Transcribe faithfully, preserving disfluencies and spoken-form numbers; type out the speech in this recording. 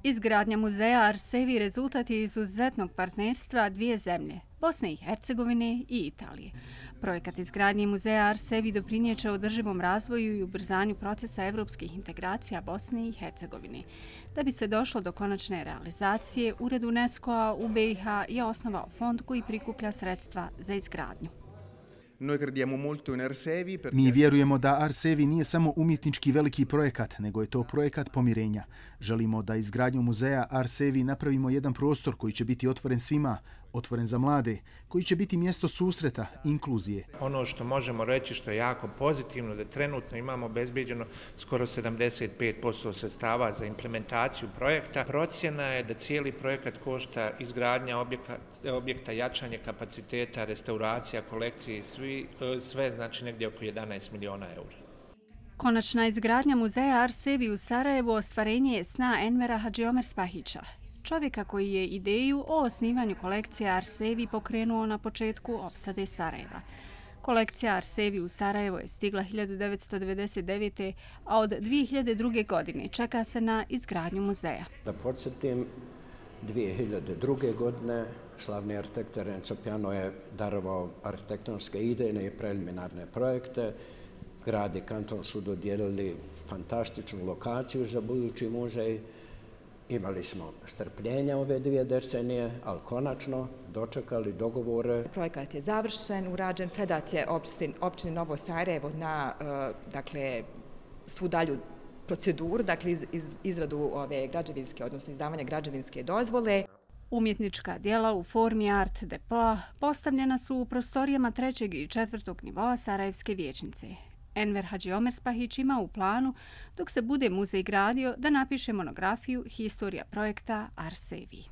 Izgradnja muzeja Arsevi rezultat je izuzetnog partnerstva dvije zemlje, Bosne i Hercegovine i Italije. Projekat izgradnje muzeja Arsevi doprinijeće održivom razvoju i ubrzanju procesa evropskih integracija Bosne i Hercegovine. Da bi se došlo do konačne realizacije, Ured UNESCO-a u B i H je osnovao fond koji prikuplja sredstva za izgradnju. Mi vjerujemo da Arsevi nije samo umjetnički veliki projekat, nego je to projekat pomirenja. Želimo da izgradnju muzeja Arsevi napravimo jedan prostor koji će biti otvoren svima, otvoren za mlade, koji će biti mjesto susreta, inkluzije. Ono što možemo reći što je jako pozitivno, da trenutno imamo obezbeđeno skoro sedamdeset pet posto sredstava za implementaciju projekta. Procjena je da cijeli projekat košta izgradnja objekta, objekta jačanje kapaciteta, restauracija, kolekcije i svi, sve znači negdje oko jedanaest miliona eura. Konačna izgradnja muzeja Arsevi u Sarajevu ostvarenje je sna Envera Hadžiomerspahića, čovjeka koji je ideju o osnivanju kolekcije Arsevi pokrenuo na početku opsade Sarajeva. Kolekcija Arsevi u Sarajevo je stigla hiljadu devetsto devedeset devete. a od dvije hiljade druge. godine čeka se na izgradnju muzeja. Da podsjetim, dvije hiljade druge. godine slavni arhitekt Renzo Piano je darovao arhitektonske idejne i preliminarne projekte. Grad i kanton su dodijelili fantastičnu lokaciju za budući muzej. Imali smo strpljenja ove dvije decenije, ali konačno dočekali dogovore. Projekat je završen, urađen, predat je općini Novo Sarajevo na dakle, svu dalju proceduru, dakle iz, iz, izradu ove građevinske, odnosno izdavanje građevinske dozvole. Umjetnička djela u formi art depoa postavljena su u prostorijama trećeg i četvrtog nivoa Sarajevske vijećnice. Enver Hadžiomerspahić ima u planu, dok se bude muzej gradio, da napiše monografiju Historija projekta Arsevi.